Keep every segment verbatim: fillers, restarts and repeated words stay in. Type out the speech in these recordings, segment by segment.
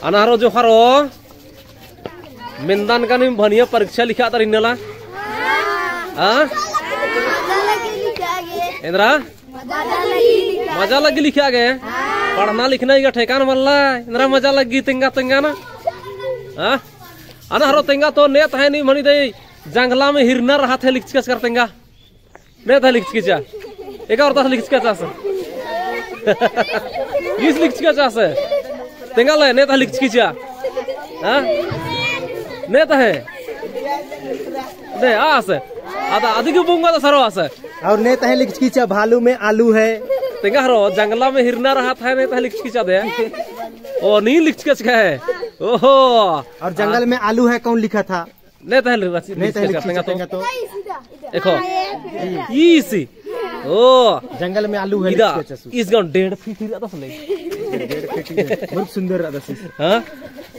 अना हरो जोहारो, मेन्दान का नीम भनिया परीक्षा लिखा तर इन्नला? हाँ? एन्दरा? मजा लग्गी लिखा गे? पढ़ना लिखना इगा ठेकान मल्ला, एन्दरा मजा लग्गी तेंगा तेंगा ना? हाँ? अना हरो तेंगा तो नेत है नीम भनी दे, जंगला में हिरना रहा थे लिखचकस कर तेंगा। नेत है लिखचकी चिआ। एका और दस लिखचकी चिआ से। ईस लिखचकी चिआ से। तेंगा ले, नेत है लिखचकी चिआ। हाँ? नेत है। ने, आ से। अदा, अदिगे बुंगा तो सरो आ से। और नेत है लिखचकी चिआ, भालू में आलू है। तेंगा हरो, जंगला में हिरना रहा था, नेत है लिखचकी चिआ दे। ओ, नीम लिखचकी चिआ है। ओहो। और जंगल में आलू है, कौन लिखा था? नेत है लिखचकी चिआ, नेत है लिखचकी चिआ, तेंगा तो। तेंगा तो। देखो। ईसी। ओ। जंगल में आलू है इदा, लिखचकी चिआ से। ईस गाँव डेढ़ फीट ही रहता सले। डेढ़ फीट ही है। बहुत सुंदर रहता से। हाँ?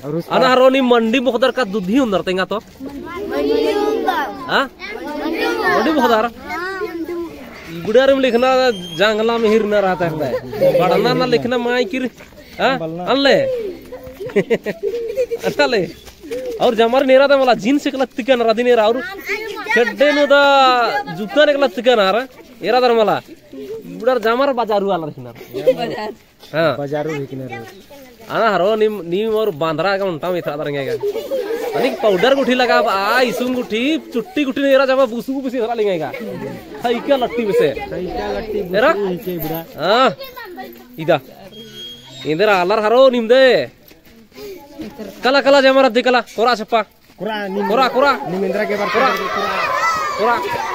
और उस अना हरो नीम मंडी मोख़दर का दुधी उन्दर तेंगा तो। हाँ? मंडी मोख़दर। इबड़ारिम लिखना जंगला में हिरना रहा था। पढ़ना ना लिखना माई किर हाँ? अल्ले। अल्ले। और जमार नेरा दा मला जींस एकला तिका नरा दिनेरा और खेड्डे नू दा जूता एकला तिका नरा। एरा दर मला। बुड़ार जमार बाजारू आलर हिकनर। हाँ। बाजारू हिकनर। अना हरो नीम, नीम और बांदरा का उन्टा में इथरा दर इंगेगा। अनिक पाउडर गुट्ठी लगा, आ, इसुन गुट्ठी, चुट्टी गुट्ठी नेरा जमा बुसु बुसी इथरा लिंगेगा। थैका लट्टी बेसे। थैका लट्टी एरा? बुसु हिके बुड़ा। हाँ। इदा। एन्देर आलर हरो निम्दे। कला, कला, जमार अद्दी कला, कोरा छप्पा। कोरा, निम-, कोरा, कोरा। निम एन्देरा गे बरचकर कोरा। कोरा।